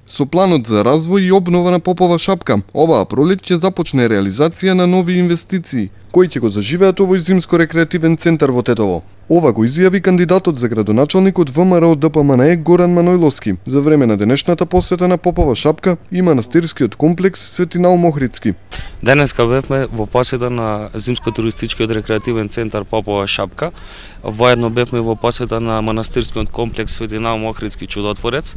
Со планот за развој и обнова на Попова шапка, оваа пролет ќе започне реализација на нови инвестиции, кои ќе го заживеат овој зимско-рекреативен центар во Тетово. Ова го изјави кандидатот за градоначалник од ВМРО ДПМНЕ Горан Манојловски за време на денешната посета на Попова шапка и манастирскиот комплекс Свети Наум Охридски. Денеска бевме во посета на зимско-туристичкиот рекреативен центар Попова шапка. Воедно бевме во посета на манастирскиот комплекс Свети Наум Охридски Чудотворец,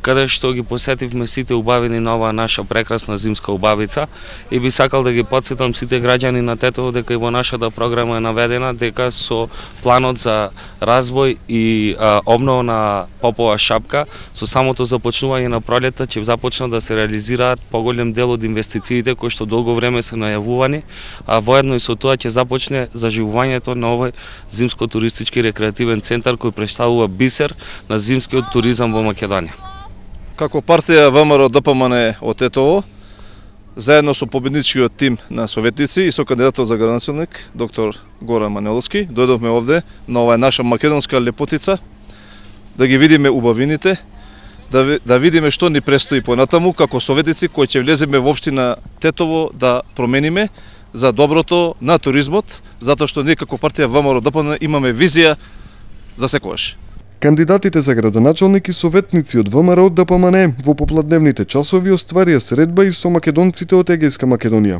каде што ги посетивме сите убавини на оваа наша прекрасна зимска убавица и би сакал да ги потсетам сите граѓани на Тетово дека и во нашата програма е наведена дека со планот за развој и обнова на Попова шапка со самото започнување на пролета ќе започнат да се реализираат поголем дел од инвестициите кои што долго време се најавувани, а воедно и со тоа ќе започне заживувањето на овој зимско-туристички рекреативен центар кој претставува бисер на зимскиот туризам во Македонија. Како партија ВМРО ДПМНЕ од Тетово, заедно со победничкиот тим на советници и со кандидатот за градоначалник, доктор Горан Манојловски, дојдовме овде на оваа наша македонска лепотица, да ги видиме убавините, да видиме што ни престои понатаму, како советници кои ќе влеземе во општина Тетово да промениме за доброто на туризмот, затоа што ние како партија ВМРО ДПМНЕ имаме визија за секојаш. Кандидатите за градоначалник и советници од ВМРО ДПМНЕ во попладневните часови остварија средба и со македонците од Егејска Македонија.